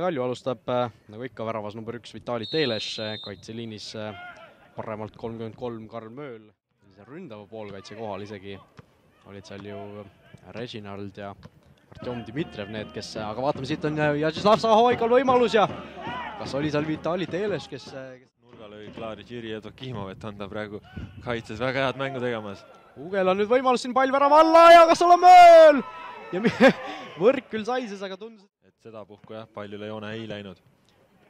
Kalju alustab nagu ikka väravas number 1 Vitali Teles, kaitseliinis paremalt 33 Karl Mööl. Ründava poolkaitse kohal isegi olid seal ju Reginald ja Artjom Dmitrijev need, kes, aga vaatame, siit on Jažislav Sahovaikal võimalus ja kas oli seal Vitali Teles, kes nurga lõi klaari Jiri Evdokimov, et on ta praegu kaitses väga head mängu tegemas. Ugel on nüüd võimalus siin pall värava alla ja kas ole Mööl! Ja võrk küll saises, aga tundus, et seda puhku jah, paljule joone ei läinud.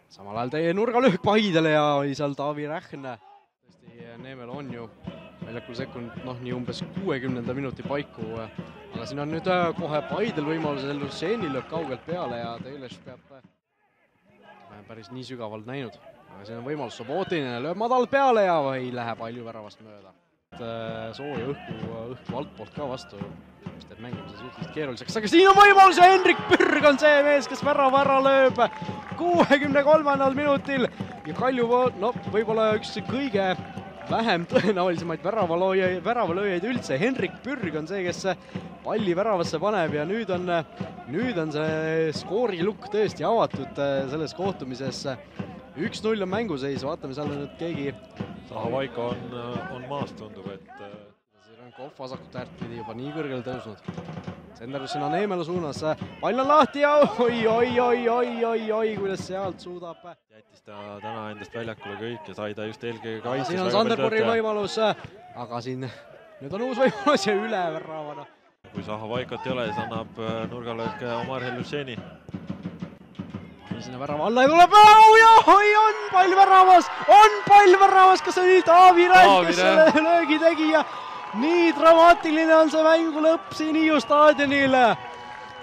Samal ajal teie nurgalöök Paidele ja oli seal Taavi Rähne. Tõesti, Neemel on ju väljakul sekund, nii umbes 60. minuti paiku, aga siin on nüüd kohe Paidel võimalus, Lušeni lööb kaugelt peale ja Teles peab päris nii sügavalt näinud. Aga siin on võimalus, Sobotinine lööb madalalt peale ja ei lähe palju väravast mööda. Sooja õhku altpoolt ka vastu, mis teeb mängimise suhteliselt keeruliseks, aga siin on võimalus ja Henrik Pürg on see mees, kes värava ära lööb 63. minutil ja Kalju, võib-olla üks kõige vähem tõenäolisemaid väravalööjaid üldse. Henrik Pürg on see, kes palli väravasse paneb ja nüüd on see skoorilukk tõesti avatud selles kohtumises. 1-0 on mänguseis, vaatame, seal on nüüd keegi Sahovaiko on maas, tundub, et Kohv vasakut äärt pidi juba nii kõrgele tõusnud. Senderus sinna Neemelu suunas, pall on lahti ja oi, kuidas sealt suudab. Jättis ta täna endast väljakule kõik ja sai ta just eelkõige kaitses. Siin on Sanderborgi võimalus, aga siin nüüd on uus võimalus ja üle väravana. Kui Sahovaikot ei ole, siis annab nurgalöök Omar Lušeni. Sinna värava alla ja tuleb, on pall väravas, kas oli Taavi Rähn, kes selle löögi tegi ja nii dramaatiline on see mängu lõpp siin Hiiu staadionil.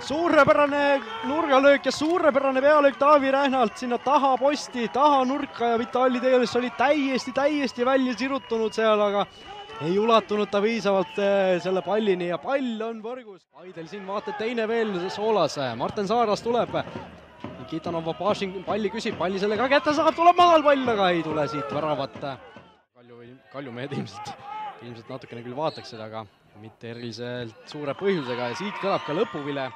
Suurepärane nurgalöök ja suurepärane pealöök Taavi Rähnalt sinna taha posti, taha nurka ja Vitali Teles oli täiesti välja sirutunud seal, aga ei ulatunud ta piisavalt selle pallini ja pall on võrgus. Paidel siin vaata teine veel soolas, Marten Saaras tuleb. Nikitanov palli küsib, palli selle ka kätte saab, tuleb madal pall, aga ei tule siit väravat. Kalju mehed ilmselt natukene küll vaataks seda, aga mitte eriliselt suure põhjusega ja siit kõlab ka lõpuvile.